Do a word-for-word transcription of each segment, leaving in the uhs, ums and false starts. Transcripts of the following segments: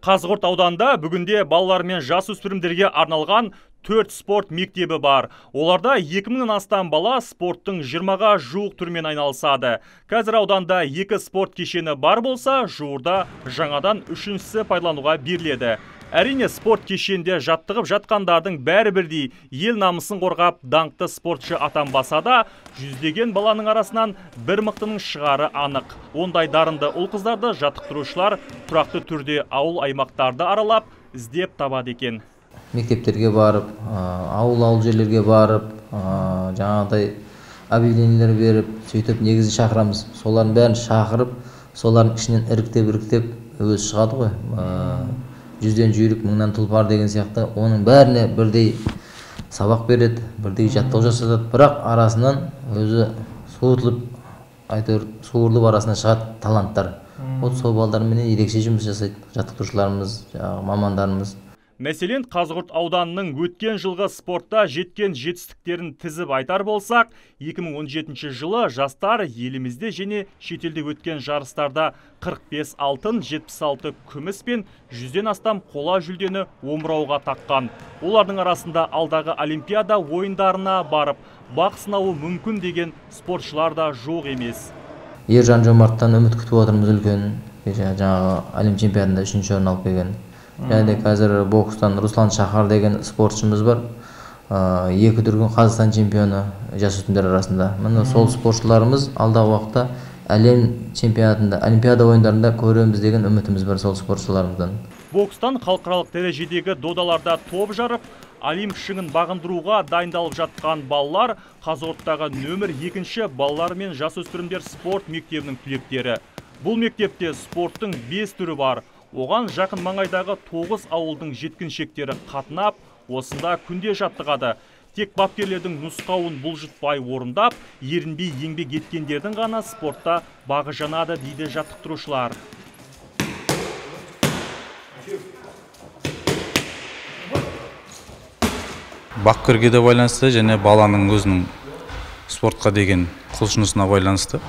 Қазығұрт ауданында бүгінде балалар мен жасөспірімдерге арналған төрт спорт мектебі бар. Оларда екі мыңнан астам бала спорттың жиырмаға жуық түрмен айналысады. Қазір ауданда екі спорт кешені бар болса, жуырда жаңадан үшіншісі пайдалануға беріледі. Әрине, спорт кешенде жаттығып жатқандардың бәрі бірдей ел намысын қорғап даңқты спортшы атанбаса да, жүздеген баланың арасынан бір мықтының шығары анық. Ондай дарынды ұл-қыздарды жаттықтырушылар тұрақты түрде ауыл аймақтарды аралап іздеп табады екен. Мектептерге барып, ауыл-ауыл жерлерге барып, жаңағыдай объявлениелер беріп, сөйтіп негізі шақырамыз. Солардың бәрін шақырып, солардың ішінен іріктеп-іріктеп өзі шығады ғой. Жүзден жүйрік, мыңнан тұлпар деген сияқты, оның бәріне бірдей сабақ береді, бірдей жаттығу жасатады. Бірақ арасынан өзі суырылып, айтыр, суырылып арасынан шығады таланттар. Ол сол балдармен ерекше жұмыс жасайды, жаттықтырушыларымыз, мамандарымыз. Мәселен, Қазығұрт ауданының өткен жылғы спортта жеткен жетістіктерін тізіп айтар болсақ, екі мың он жетінші жылы жастар елімізде және шетелде өткен жарыстарда қырық бес алтын, жетпіс алты күміс пен жүзден астам қола жүлдені омырауға таққан. Олардың арасында алдағы олимпиада ойындарына барып, бақ сынауы мүмкін деген спортшылар да жоқ емес. Ержан Жомарттан үміт күтіп отырмыз үлкен, жаңағы Әлем чемпионатында үшінші орын алып келген. Және қазір бокстан Руслан Шахар деген спортшымыз бар. Екі дүркін Қазақстан чемпионы жасөспірімдер арасында. Міне сол спортшыларымыз алдағы уақытта әлем чемпионатында, олимпиада ойындарында көреміз деген үмітіміз бар сол спортшыларымыздан. Бокстан халықаралық дәрежедегі додаларда топ жарып, Олимп шыңын бағындыруға дайындалып жатқан балалар Қазығұрттағы нөмір екінші балалар мен жасөспірімдер спорт мектебінің түлектері. Бұл мектепте спорттың бес түрі бар. Оған жақын маңайдағы тоғыз ауылдың жеткіншектері қатынап, осында күнде жаттығады. Тек бапкерлердің нұсқауын бұлжытпай орындап, ерінбей еңбек еткендердің ғана спортта бағы жанады дейді жаттықтырушылар. Бапкерге де байланысты және баланың өзінің спортқа деген құлшынысына байланысты.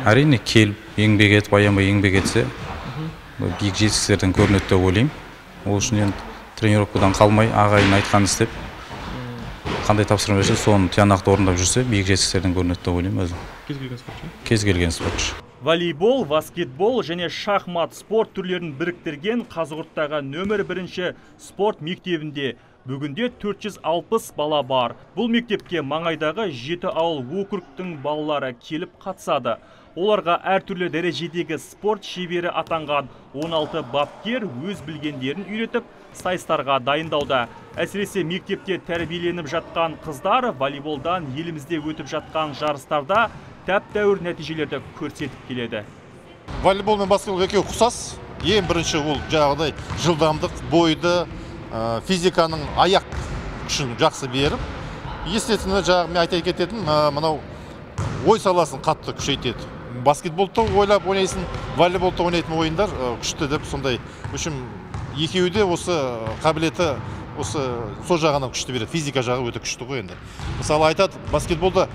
Әрине келіп, еңбек етіп, аянбай еңбек етсе, биік жетістіктерден көрінеді деп ойлаймын. Ол үшін енді тренировкадан қалмай, ағайын айтқан істеп, қандай тапсырма берсе, соны тиянақты орындап жүрсе, биік жетістіктерден көрінеді деп ойлаймын өзім. Кез келген спортшы? Кез келген спортшы. Волейбол, баскетбол және шахмат спорт түрлерін біріктірген Қазығұрттағы нөмір бірінші спорт мектебінде бүгінде төрт жүз алпыс бала бар. Бұл мектепке маңайдағы жеті ауыл округтың балалары келіп қатысады. Оларға әртүрлі дәрежедегі спорт шебері атанған он алты бапкер өз білгендерін үйретіп, сайыстарға дайындауда. Әсіресе мектепте тәрбиеленіп жатқан қыздар волейболдан елімізде өтіп жатқан жарыстарда тәп-тәуір нәтижелерді көрсетіп келеді. Волейбол мен баскетбол екеуі ұқсас. Ең бірінші ол жаңағыдай жылдамдық, бойды, физиканың аяқ күшін жақсы беріп, естественно, жаңағы мен айта кететін, мынау ой саласын қатты күшейтеді. Баскетболды ойлап ойнайсың, волейболды ойнайтын ойындар күшті деп сондай. Үшін екеуі де осы қабілеті осы сол жағынан күшті береді. Физика жағы өте күшті ғой енді. Мысалы айтады, баскетболда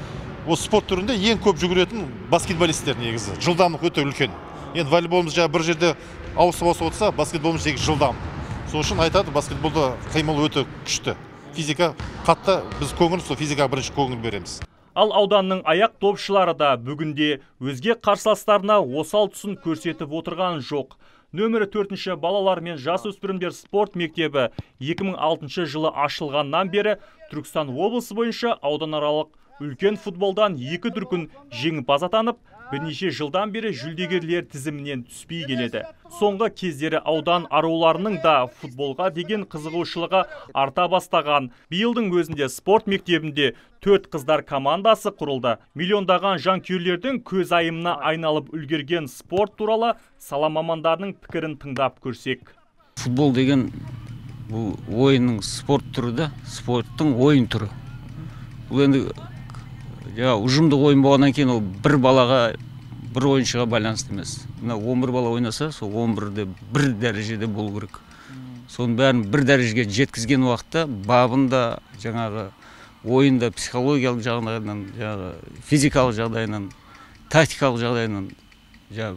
осы спорт түрінде ең көп жүгіретін баскетболисттер негізі. Жылдамдық өте үлкен. Енді волейболымыз жаңа бір жерде ауысып-ауысып отырса, баскетболымыз тек жылдам. Сол үшін айтады, баскетболда қимыл өте күшті. Физика қатты, біз көңіл, сол физика бірінші көңіл береміз. Ал ауданның аяқ топшылары да бүгінде өзге қарсыластарына осал тұсын көрсетіп отырған жоқ. Нөмірі төртінші балалар мен жасөспірімдер спорт мектебі екі мың алтыншы жылы ашылғаннан бері Түркістан облысы бойынша ауданаралық үлкен футболдан екі дүркін жеңімпаз атанып, бірнеше жылдан бері жүлдегерлер тізімінен түспей келеді. Соңғы кездері аудан аруларының да футболға деген қызығушылығы арта бастаған. Биылдың өзінде спорт мектебінде төрт қыздар командасы құрылды. Миллиондаған жанкүйерлердің көз айымына айналып үлгерген спорт туралы сала мамандарының пікірін тыңдап көрсек. Футбол деген бұл ойынның спорт түрі да, спорттың ойын түрі. Бұл енді ұжымдық ойын болғаннан кейін ол бір балаға, бір ойыншыға байланысты емес. он бір бала ойнаса, сол он бірде бір дәрежеде болу керек. Соның бәрін бір дәрежеге жеткізген уақытта бабында, жаңағы ойында психологиялық жағдайынан, физикалық жағдайынан, тактикалық жағдайынан,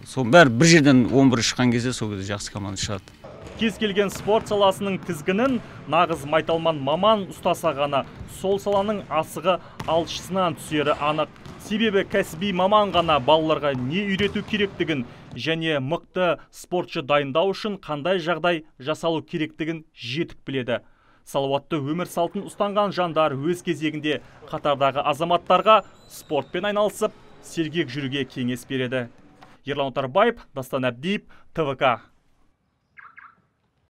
соның бәрі бір жерден он бір шыққан кезде сол кезде жақсы команда шығады. Кез келген спорт саласының тізгінін нағыз майталман маман ұстаса ғана сол саланың асығы алшысынан түсері анық. Себебі кәсіби маман ғана балаларға не үйрету керектігін және мықты спортшы дайындау үшін қандай жағдай жасалу керектігін жетік біледі. Салауатты өмір салтын ұстанған жандар өз кезегінде қатардағы азаматтарға спортпен айналысып, сергек жүруге кеңес береді. Ерлан Отарбаев, Дастан Әбдиев, Т В К.